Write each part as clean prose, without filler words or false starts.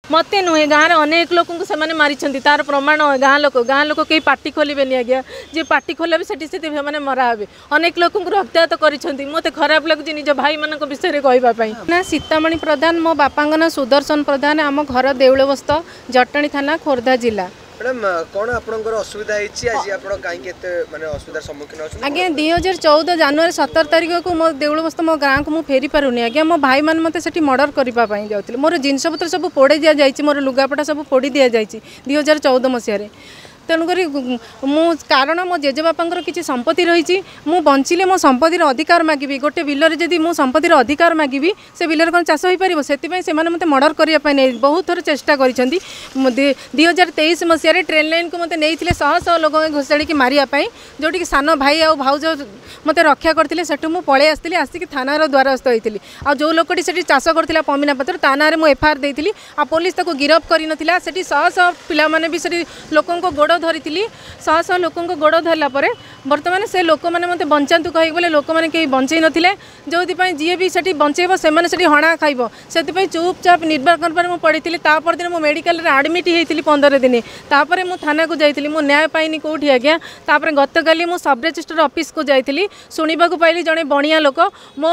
ମୋତେ ନୁହେଁ, ଗାଁରେ ଅନେକ ଲୋକଙ୍କୁ ସେମାନେ ମାରିଛନ୍ତି, ତାର ପ୍ରମାଣ ଗାଁ ଲୋକ କେହି ପାଟି ଖୋଲିବେନି ଆଜ୍ଞା। ଯିଏ ପାଟି ଖୋଲିବେ ସେଠି ସେଠି ସେମାନେ ମରା ହେବେ। ଅନେକ ଲୋକଙ୍କୁ ରକ୍ତାୟତ କରିଛନ୍ତି। ମୋତେ ଖରାପ ଲାଗୁଛି ନିଜ ଭାଇମାନଙ୍କ ବିଷୟରେ କହିବା ପାଇଁ। ନା ସୀତାମଣି ପ୍ରଧାନ, ମୋ ବାପାଙ୍କ ନାଁ ସୁଦର୍ଶନ ପ୍ରଧାନ, ଆମ ଘର ଦେଉଳବସ୍ତ, ଜଟଣୀ ଥାନା, ଖୋର୍ଦ୍ଧା ଜିଲ୍ଲା। ମ୍ୟାଡ଼ାମ, କ'ଣ ଆପଣଙ୍କର ଅସୁବିଧା ହେଇଛି ଆଜି? ଆପଣ କାହିଁକି ଏତେ ମାନେ ଅସୁବିଧାର ସମ୍ମୁଖୀନ ଅଛନ୍ତି? ଆଜ୍ଞା, 2014 ଜାନୁଆରୀ 17 ତାରିଖକୁ ମୋ ଦେଉଳବସ୍ତ ମୋ ଗାଁକୁ ମୁଁ ଫେରି ପାରୁନି ଆଜ୍ଞା। ମୋ ଭାଇମାନେ ମୋତେ ସେଠି ମର୍ଡ଼ର କରିବା ପାଇଁ ଯାଉଥିଲେ। ମୋର ଜିନିଷପତ୍ର ସବୁ ପୋଡ଼ି ଦିଆଯାଇଛି, ମୋର ଲୁଗାପଟା ସବୁ ପୋଡ଼ି ଦିଆଯାଇଛି 2014 ମସିହାରେ। ତେଣୁକରି ମୁଁ, କାରଣ ମୋ ଜେଜେବାପାଙ୍କର କିଛି ସମ୍ପତ୍ତି ରହିଛି, ମୁଁ ବଞ୍ଚିଲେ ମୋ ସମ୍ପତ୍ତିର ଅଧିକାର ମାଗିବି। ଗୋଟେ ବିଲରେ ଯଦି ମୁଁ ସମ୍ପତ୍ତିର ଅଧିକାର ମାଗିବି, ସେ ବିଲରେ କ'ଣ ଚାଷ ହୋଇପାରିବ? ସେଥିପାଇଁ ସେମାନେ ମୋତେ ମର୍ଡ଼ର କରିବା ପାଇଁ ନେଇ ବହୁତ ଥର ଚେଷ୍ଟା କରିଛନ୍ତି। 2023 ମସିହାରେ ଟ୍ରେନ୍ ଲାଇନ୍କୁ ମୋତେ ନେଇଥିଲେ ଶହ ଶହ ଲୋକଙ୍କୁ ଘୋଷାଡ଼ିକି ମାରିବା ପାଇଁ, ଯେଉଁଠିକି ସାନ ଭାଇ ଆଉ ଭାଉଜ ମୋତେ ରକ୍ଷା କରିଥିଲେ। ସେଠୁ ମୁଁ ପଳେଇ ଆସିଥିଲି, ଆସିକି ଥାନାର ଦ୍ୱାରସ୍ଥ ହୋଇଥିଲି। ଆଉ ଯେଉଁ ଲୋକଟି ସେଠି ଚାଷ କରୁଥିଲା ପମିନା ପାତ୍ର, ତା ନାଁରେ ମୁଁ ଏଫଆଇଆର୍ ଦେଇଥିଲି, ଆଉ ପୋଲିସ ତାକୁ ଗିରଫ କରିନଥିଲା। ସେଠି ଶହ ଶହ ପିଲାମାନେ ବି ସେଠି ଲୋକଙ୍କ ଗୋଡ଼ ଧରିଥିଲି। ଶହ ଶହ ଲୋକଙ୍କ ଗୋଡ଼ ଧରିଲା ପରେ ବର୍ତ୍ତମାନ ସେ ଲୋକମାନେ ମୋତେ ବଞ୍ଚାନ୍ତୁ କହିକି ବୋଲେ ଲୋକମାନେ କେହି ବଞ୍ଚେଇ ନଥିଲେ। ଯେଉଁଥିପାଇଁ ଯିଏ ବି ସେଠି ବଞ୍ଚେଇବ, ସେମାନେ ସେଠି ହଣା ଖାଇବ। ସେଥିପାଇଁ ଚୁପଚାପ ନିର୍ବାହ ପରେ ମୁଁ ପଡ଼ିଥିଲି। ତା ପରଦିନ ମୁଁ ମେଡ଼ିକାଲରେ ଆଡ଼ମିଟ୍ ହେଇଥିଲି 15 ଦିନ। ତାପରେ ମୁଁ ଥାନାକୁ ଯାଇଥିଲି, ମୁଁ ନ୍ୟାୟ ପାଇନି କେଉଁଠି ଆଜ୍ଞା। ତାପରେ ଗତକାଲି ମୁଁ ସବ୍ ରେଜିଷ୍ଟ୍ରାର ଅଫିସକୁ ଯାଇଥିଲି। ଶୁଣିବାକୁ ପାଇଲି ଜଣେ ବଣିଆ ଲୋକ ମୋ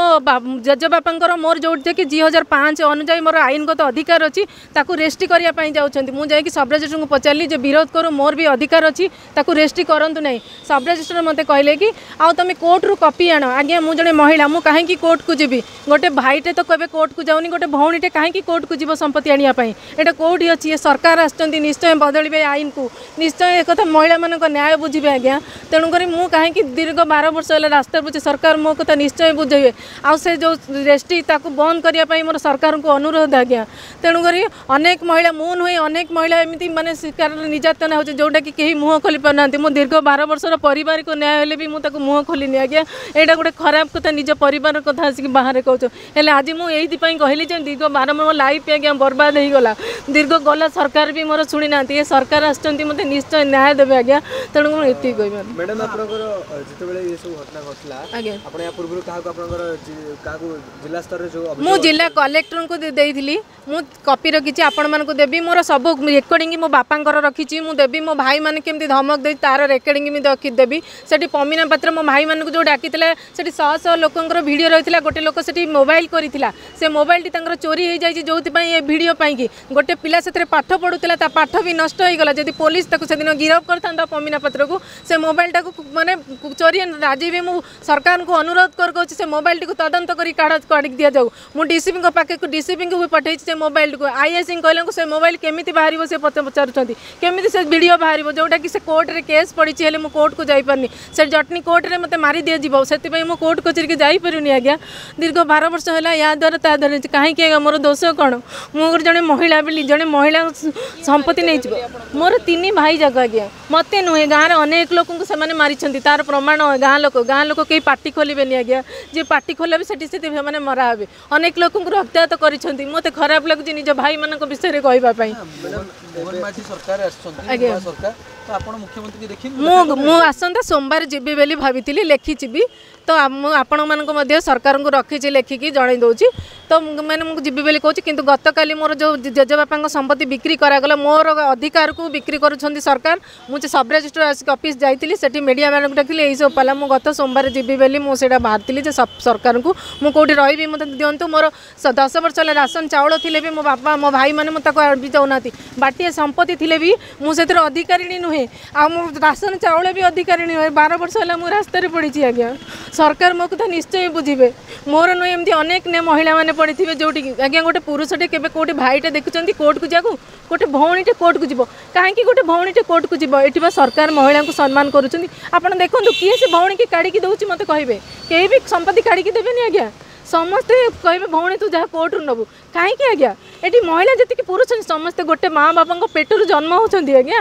ଜେଜେବାପାଙ୍କର, ମୋର ଯେଉଁଠି 2005 ଅନୁଯାୟୀ ମୋର ଆଇନଗତ ଅଧିକାର ଅଛି, ତାକୁ ରେଷ୍ଟ୍ରି କରିବା ପାଇଁ ଯାଉଛନ୍ତି। ମୁଁ ଯାଇକି ସବ୍ ରେଜିଷ୍ଟ୍ରାରଙ୍କୁ ପଚାରିଲି ଯେ ବିରୋଧ କରୁ, ମୋର ବି ଅଧିକାର ଅଛି, ତାକୁ ରେଷ୍ଟ୍ରି କରନ୍ତୁ ନାହିଁ। ସବ୍ ରେଜିଷ୍ଟ୍ରାର ମୋତେ କହିଲେ କି ଆଉ ତୁମେ କୋର୍ଟରୁ କପି ଆଣ। ଆଜ୍ଞା, ମୁଁ ଜଣେ ମହିଳା, ମୁଁ କାହିଁକି କୋର୍ଟକୁ ଯିବି? ଗୋଟେ ଭାଇଟେ ତ କେବେ କୋର୍ଟକୁ ଯାଉନି, ଗୋଟେ ଭଉଣୀଟେ କାହିଁକି କୋର୍ଟକୁ ଯିବ ସମ୍ପତ୍ତି ଆଣିବା ପାଇଁ? ଏଇଟା କେଉଁଠି ଅଛି? ଏ ସରକାର ଆସିଛନ୍ତି, ନିଶ୍ଚୟ ବଦଳିବେ ଆଇନକୁ, ନିଶ୍ଚୟ ଏକଥା ମହିଳାମାନଙ୍କ ନ୍ୟାୟ ବୁଝିବେ ଆଜ୍ଞା। ତେଣୁକରି ମୁଁ କାହିଁକି ଦୀର୍ଘ 12 ବର୍ଷ ହେଲା ରାସ୍ତାରେ ବୁଝି, ସରକାର ମୋ କଥା ନିଶ୍ଚୟ ବୁଝେଇବେ। ଆଉ ସେ ଯେଉଁ ରେଷ୍ଟ୍ରି, ତାକୁ ବନ୍ଦ କରିବା ପାଇଁ ମୋର ସରକାରଙ୍କୁ ଅନୁରୋଧ ଆଜ୍ଞା। ତେଣୁକରି ଅନେକ ମହିଳା, ମୁଁ ନୁହେଁ, ଅନେକ ମହିଳା ଏମିତି ମାନେ ଶିକାରର ନିର୍ଯାତନା ହେଉଛି, ଯେଉଁଟାକି କେହି ମୁହଁ ଖୋଲି ପାରୁନାହାନ୍ତି। ମୁଁ ଦୀର୍ଘ 12 ବର୍ଷର ପରିବାରକୁ ନ୍ୟାୟ ହେଲେ ବି ମୁଁ ତାକୁ ମୁହଁ ଖୋଲିନି ଆଜ୍ଞା। ଏଇଟା ଗୋଟେ ଖରାପ କଥା, ନିଜ ପରିବାର କଥା ଆସିକି ବାହାରେ କହୁଛ। ହେଲେ ଆଜି ମୁଁ ଏଇଥିପାଇଁ କହିଲି ଯେ ଦୀର୍ଘ 12, ମୋ ଲାଇଫ୍ ଆଜ୍ଞା ବର୍ବାଦ ହେଇଗଲା, ଦୀର୍ଘ ଗଲା, ସରକାର ବି ମୋର ଶୁଣି ନାହାନ୍ତି। ଏ ସରକାର ଆସିଛନ୍ତି, ମୋତେ ନିଶ୍ଚୟ ନ୍ୟାୟ ଦେବେ ଆଜ୍ଞା। ତେଣୁ ମୁଁ ଏତିକି କହିବି। ମ୍ୟାଡ଼ାମ, ଆପଣଙ୍କର ଯେତେବେଳେ ଏ ସବୁ ଘଟଣା ଘଟିଲା ଆଜ୍ଞା, ଆପଣ ୟା ପୂର୍ବରୁ କାହାକୁ, ଆପଣଙ୍କର କାହାକୁ ଜିଲ୍ଲା ସ୍ତରରେ ଯେଉଁ ମୁଁ ଜିଲ୍ଲା କଲେକ୍ଟରଙ୍କୁ ଦେଇଥିଲି, ମୁଁ କପି ରଖିଛି, ଆପଣମାନଙ୍କୁ ଦେବି। ମୋର ସବୁ ରେକର୍ଡ଼ିଂ ମୋ ବାପାଙ୍କର ରଖିଛି, ମୁଁ ଦେବି। ମୋ ଭାଇମାନେ କେମିତି ଧମକ ଦେଇ ତାର ରେକର୍ଡ଼ିଂ ବି ରଖିଦେବି। ସେଠି ପମିନା ପାତ୍ର ମୋ ଭାଇମାନଙ୍କୁ ଯେଉଁ ଡାକିଥିଲା, ସେଠି ଶହ ଶହ ଲୋକଙ୍କର ଭିଡ଼ିଓ ରହିଥିଲା। ଗୋଟେ ଲୋକ ସେଠି ମୋବାଇଲ କରିଥିଲା, ସେ ମୋବାଇଲଟି ତାଙ୍କର ଚୋରି ହେଇଯାଇଛି, ଯେଉଁଥିପାଇଁ ଏ ଭିଡ଼ିଓ ପାଇଁକି ଗୋଟେ ପିଲା ସେଥିରେ ପାଠ ପଢ଼ୁଥିଲା, ତା ପାଠ ବି ନଷ୍ଟ ହେଇଗଲା। ଯଦି ପୋଲିସ ତାକୁ ସେଦିନ ଗିରଫ କରିଥାନ୍ତା ପମିନା ପାତ୍ରକୁ, ସେ ମୋବାଇଲଟାକୁ ମାନେ ଚୋରି। ଆଜି ବି ମୁଁ ସରକାରଙ୍କୁ ଅନୁରୋଧ କରୁଛି, ସେ ମୋବାଇଲଟିକୁ ତଦନ୍ତ କରି କାଢ଼ିକି ଦିଆଯାଉ। ମୁଁ ଡିସିପିଙ୍କ ପାଖକୁ, ଡିସିପିଙ୍କୁ ବି ପଠେଇଛି ସେ ମୋବାଇଲଟିକୁ। ଆଇଆଇସିଙ୍କୁ କହିଲାଙ୍କୁ ସେ ମୋବାଇଲ କେମିତି ବାହାରିବ, ସେ ପଚାରୁଛନ୍ତି କେମିତି ସେ ଭିଡ଼ିଓ ବାହାରିବ, ଯେଉଁଟାକି ସେ କୋର୍ଟରେ କେସ୍ ପଡ଼ିଛି। ହେଲେ ମୁଁ କୋର୍ଟକୁ ଯାଇପାରୁନି, ସେ ଜଟଣୀ କୋର୍ଟରେ ମୋତେ ମାରି ଦିଆଯିବ, ସେଥିପାଇଁ ମୁଁ କୋର୍ଟ କଚେରୀକି ଯାଇପାରୁନି ଆଜ୍ଞା। ଦୀର୍ଘ 12 ବର୍ଷ ହେଲା ୟା ଦ୍ୱାରା ତା ଦ୍ୱାରା। କାହିଁକି ଆଜ୍ଞା? ମୋର ଦୋଷ କ'ଣ? ମୁଁ ଗୋଟେ ଜଣେ ମହିଳା ବୋଲି ଜଣେ ମହିଳା ସମ୍ପତ୍ତି ନେଇଯିବ? ମୋର ତିନି ଭାଇ ଯାକ ଆଜ୍ଞା। ମୋତେ ନୁହେଁ, ଗାଁରେ ଅନେକ ଲୋକଙ୍କୁ ସେମାନେ ମାରିଛନ୍ତି, ତାର ପ୍ରମାଣ ଗାଁ ଲୋକ କେହି ପାଟି ଖୋଲିବେନି ଆଜ୍ଞା। ଯିଏ ପାଟି ଖୋଲିବେ ସେଠି ସେଠି ସେମାନେ ମରା ହେବେ। ଅନେକ ଲୋକଙ୍କୁ ରକ୍ତାୟତ କରିଛନ୍ତି। ମୋତେ ଖରାପ ଲାଗୁଛି ନିଜ ଭାଇମାନଙ୍କ ବିଷୟରେ କହିବା ପାଇଁ। ମୋହନ ମାଝୀ ସରକାର ଆସିଛନ୍ତି ଆଜ୍ଞା। ନୂଆ ସରକାର ତ, ଆପଣ ମୁଖ୍ୟମନ୍ତ୍ରୀକି ଦେଖିନି? ମୁଁ ଆସନ୍ତା ସୋମବାର ଯିବି ବୋଲି ଭାବିଥିଲି, ଲେଖିଛି ବି ତ। ମୁଁ ଆପଣମାନଙ୍କୁ ମଧ୍ୟ ସରକାରଙ୍କୁ ରଖିଛି, ଲେଖିକି ଜଣାଇ ଦେଉଛି ତ। ମାନେ ମୁଁ ଯିବି ବୋଲି କହୁଛି, କିନ୍ତୁ ଗତକାଲି ମୋର ଯେଉଁ ଜେଜେବାପାଙ୍କ ସମ୍ପତ୍ତି ବିକ୍ରି କରାଗଲା, ମୋର ଅଧିକାରକୁ ବିକ୍ରି କରୁଛନ୍ତି ସରକାର। ମୁଁ ଯେ ସବ୍ ରେଜିଷ୍ଟ୍ରାର ଆସିକି ଅଫିସ୍ ଯାଇଥିଲି, ସେଠି ମିଡ଼ିଆ ମାନଙ୍କୁ ଡାକିଲି, ଏଇସବୁ ପାଲା। ମୁଁ ଗତ ସୋମବାର ଯିବି ବୋଲି ମୁଁ ସେଇଟା ବାହାରିଥିଲି ଯେ ସରକାରଙ୍କୁ ମୁଁ କେଉଁଠି ରହିବି ମୋତେ ଦିଅନ୍ତୁ। ମୋର 10 ବର୍ଷ ହେଲା ରାସନ ଚାଉଳ ଥିଲେ ବି ମୋ ବାପା, ମୋ ଭାଇମାନେ ମୁଁ ତାକୁ ବି ଦେଉନାହାନ୍ତି। ବାଟିଏ ସମ୍ପତ୍ତି ଥିଲେ ବି ମୁଁ ସେଥିରେ ଅଧିକାରିଣୀ ନୁହେଁ, ଆଉ ମୁଁ ରାସନ ଚାଉଳ ବି ଅଧିକାରିଣୀ ନୁହେଁ। 12 ବର୍ଷ ହେଲା ମୁଁ ରାସ୍ତାରେ ପଡ଼ିଛି ଆଜ୍ଞା। ସରକାର ମୋ କଥା ନିଶ୍ଚୟ ବୁଝିବେ। ମୋର ନୁହେଁ, ଏମିତି ଅନେକ ମହିଳାମାନେ ପଡ଼ିଥିବେ ଯେଉଁଠିକି ଆଜ୍ଞା। ଗୋଟେ ପୁରୁଷଟେ କେବେ କେଉଁଠି ଭାଇଟେ ଦେଖୁଛନ୍ତି କୋର୍ଟକୁ ଯିବାକୁ? ଗୋଟେ ଭଉଣୀଟେ କୋର୍ଟକୁ ଯିବ କାହିଁକି? ଗୋଟେ ଭଉଣୀଟେ କୋର୍ଟକୁ ଯିବ? ଏଠି ବା ସରକାର ମହିଳାଙ୍କୁ ସମ୍ମାନ କରୁଛନ୍ତି। ଆପଣ ଦେଖନ୍ତୁ, କିଏ ସେ ଭଉଣୀକି କାଢ଼ିକି ଦେଉଛି ମୋତେ କହିବେ? କେହି ବି ସମ୍ପତ୍ତି କାଢ଼ିକି ଦେବେନି ଆଜ୍ଞା। ସମସ୍ତେ କହିବେ, ଭଉଣୀ ତୁ ଯାହା କୋର୍ଟରୁ ନେବୁ। କାହିଁକି ଆଜ୍ଞା? ଏଠି ମହିଳା ଯେତିକି ପୁରୁଷ ସମସ୍ତେ ଗୋଟେ ମା ବାପାଙ୍କ ପେଟରୁ ଜନ୍ମ ହେଉଛନ୍ତି ଆଜ୍ଞା।